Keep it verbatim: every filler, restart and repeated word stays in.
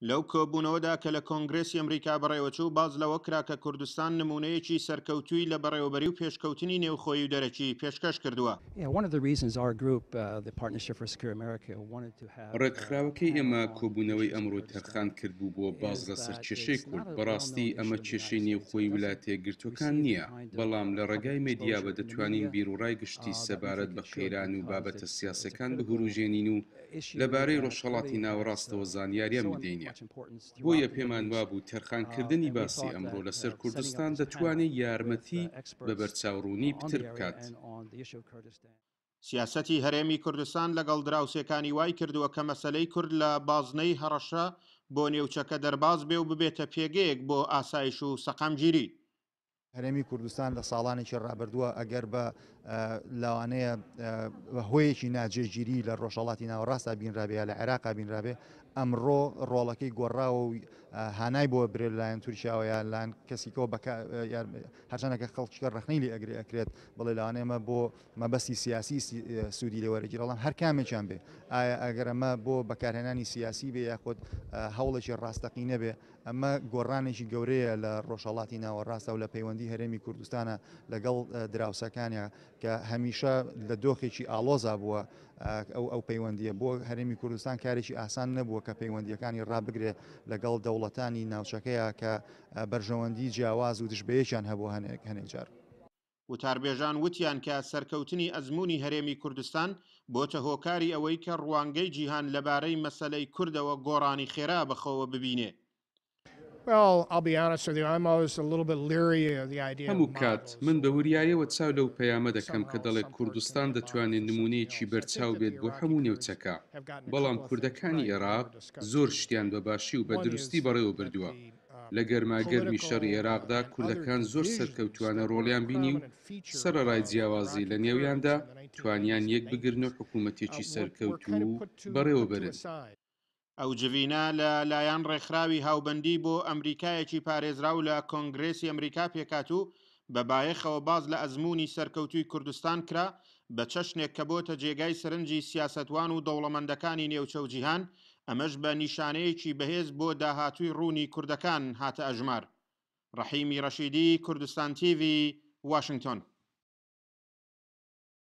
لەو کۆبوونەوەدا کە لە کۆنگرێسی ئەمریکا بەڕێوەچوو، باس لەوە کرا کە کوردستان نموونەیەکی سەرکەوتووی لە بەڕێوەبەری و پێشکەوتنی نێوخۆیی و دەرەکی پێشکەش کردووە. ڕێکخراوەکەی ئێمە کۆبوونەوەی ئەمڕۆی تەرخان کردبوو بۆ باس لەسەر کێشەی کورد، بەڕاستی ئەمە کێشەی نێوخۆی ویلایەتە یەکگرتووەکان نییە، بەڵام لە ڕێگای مێدیاوە دەتوانین بیروڕای گشتی سەبارەت بە قەیران و بابەتە سیاسییەکان بهوروژێنین و لەبارەی ڕۆژهەڵاتی ناوەڕاستەوە زانیاریان بدەینێ. بۆیە پێمان وابوو تەرخانکردنی باسی ئەمڕۆ لەسەر کوردستان دەتوانێ یارمەتی بە بەرچاوڕوونی پتر بکات. سیاسەتی هەرێمی کوردستان لەگەڵ دراوسێکانی وای کردووە کە مەسەلەی کورد لە بازنەی هەڕەشە بۆ نێوچەکە دەرباز بێ و ببێتە پێگەیەک بۆ ئاسایش و سەقامگیری. هەرێمی کوردستان لە ساڵانێکی ڕابردووە ئەگەر بە لەوانەیە بە هۆیەکی ناجێگیری لە ڕۆژهەڵاتی ناوەڕاستدا بینرابێ یا لە عێراقا بینرابێ، ئەمڕۆ ڕۆڵەکەی گۆڕاوە و هانای بۆ برێ لەلایەن تورکیاوە یا لەلایەن کەسیکەوە بەکە هەرچەندەکە خەڵکیکە ڕەخنەی لێ ئەگرێ ئەکرێت بڵێ لەوانەیە ئەمە بۆ مەبەستی سیاسی سوودی لێ وەرەگیرێ، بەڵام هەر کامێکیان بێ ئایا ئەگەر ئەمە بۆ بەکارهێنانی سیاسی بێ یاخود هەوڵێکی ڕاستەقینە بێ، ئەمە گۆڕانێکی گەورەیە لە ڕۆژهەڵاتی ناوەڕاستە و لە پەیوەندی هەرێمی کوردستانە لەگەڵ دراوسەکانیا کە هەمیشە لە دۆخێکی ئاڵۆزا بووە. ئەو ئەو پەیوەندیە بۆ هەرێمی کوردستان کارێکی ئاسان نەبووە کە پەیوەندیەکانی ڕابگرێ لەگەڵ دەوڵەتانی ناوچەکەیە کە بەرژەوەندی جیاواز و دژبەیەکیان هەبوو هەنێک هەنێک جار. وتاربێژان وتیان کە سەرکەوتنی ئەزموونی هەرێمی کوردستان بۆتە هۆکاری ئەوەی کە ڕوانگەی جیهان لەبارەی مەسەلەی کوردەوە گۆڕانی خێرا بەخۆوە ببینێ. هەموو کات من بە وریاییەوە چاو لەو پەیامە دەکەم کە دەڵێ کوردستان دەتوانێ نموونەیەکی بەرچاو بێت بۆ هەموو نێوچەکە، بەڵام کوردەکانی ئێراق زۆر شتیان بە باشی و بە دروستی بەڕێوە بردووە. لە گەرماگەرمی شەڕی ئێراقدا کوردەکان زۆر سەرکەوتووانە ڕۆڵیان بینی و سەرەڕای جیاوازی لە نێویاندا توانیان یەک بگرن و حکوومەتێکی سەرکەوتوو بەڕێوە بەرن. ئەو جڤینە لە لایەن ڕێکخراوی هاوبەندی بۆ ئەمریکایەکی پارێزراو لە کۆنگرێسی ئەمریکا پێکهات و بە بایەخەوە باس لە ئەزموونی سەرکەوتووی کوردستان کرا بە چەشنێک کە بۆتە جێگای سەرنجی سیاسەتوان و دەوڵەمەندەکانی نێوچە و جیهان، ئەمەش بە نیشانەیەکی بەهێز بۆ داهاتووی ڕوونی کوردەکان هاتە ئەژمار. ڕەحیمی ڕەشیدی، کوردستان تیڤی، واشنگتۆن.